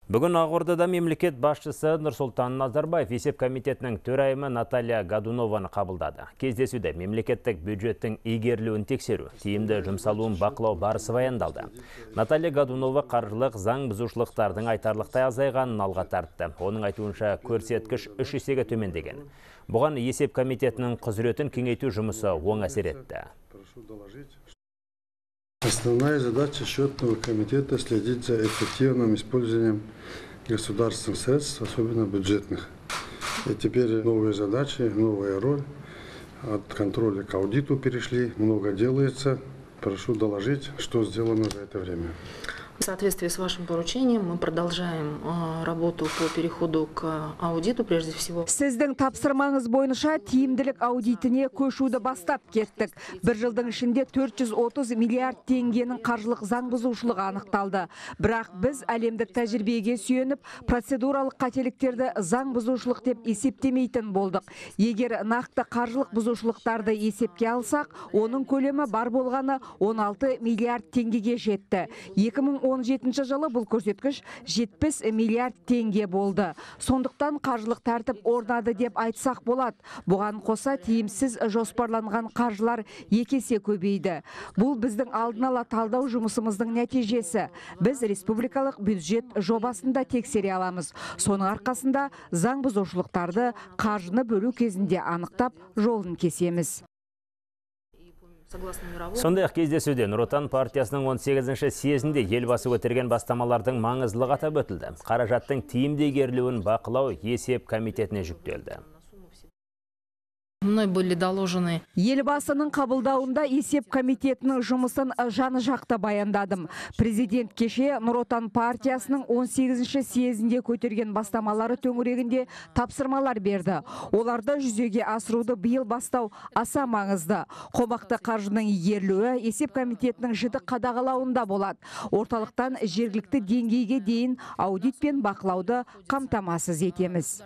Бүгін Ақордада мемлекет басшысы Нұрсұлтан Назарбаев есеп комитетінің төрайымы Наталья Годунованы қабылдады. Кездесуде мемлекеттік бюджеттің игерілуін тексеру, тиімді жұмсалуын бақылау барысы баяндалды. Наталья Годунова қаржылық заң бұзушылықтардың айтарлықтай азайғанын алға тартты. Оның айтуынша көрсеткіш 3 есеге төмендеген. Бұған есеп комитетінің құзыретін кеңейту жұмысы оң әсер етті. Основная задача счетного комитета — следить за эффективным использованием государственных средств, особенно бюджетных. И теперь новые задачи, новая роль. От контроля к аудиту перешли, много делается. Прошу доложить, что сделано за это время. В соответствии с вашим поручением мы продолжаем работу по переходу к аудиту прежде всего. Сіздің тапсырмаңыз бойынша тиімділік аудитіне көшуді бастап кеттік. Бір жылдың ішінде 430 миллиард теңгенің қаржылық заң бұзушылығы анықталды. Бірақ біз әлемдік тәжірибеге сүйеніп, процедуралық қателіктерді заң бұзушылық деп есептемейтін болдық. Егер нақты қаржылық бұзушылықтарды есепке алсақ, оның көлемі бар болғаны 16 миллиард теңгеге жетті. 2017 жылы бұл көрсеткіш 70 миллиард теңге болды. Сондықтан қаржылық тәртіп орнады деп айтсақ болады. Бұған қоса тиімсіз жоспарланған қаржылар 2 есе көбейді. Бұл біздің алдын ала талдау жұмысымыздың нәтижесі. Біз республикалық бюджет жобасында тексере аламыз. Соның арқасында заң бұзушылықтарды қаржыны бөлу кезінде анықтап жолын кесеміз. Сондай-ақ кездесуде Нұр Отан партиясының 18-ші съезінде елбасы көтерген бастамалардың маңыздылығы атап өтілді. Қаражаттың тиімді игерілуін бақылау есеп комитетіне жүктелді. Мной были доложены. Елбасының қабылдауында есеп комитетінің жұмысын жаны жақты баяндадым. Президент кеше Нұр Отан партиясының 18-ші съезінде көтерген бастамалары төңірегінде тапсырмалар берді. Оларды жүзеге асыруды биыл бастау аса маңызды. Қомақты қаржының игерілуі есеп комитетінің жіті қадағалауында болады. Орталықтан жергілікті деңгейге дейін аудит пен бақылауды қамтамасыз етеміз.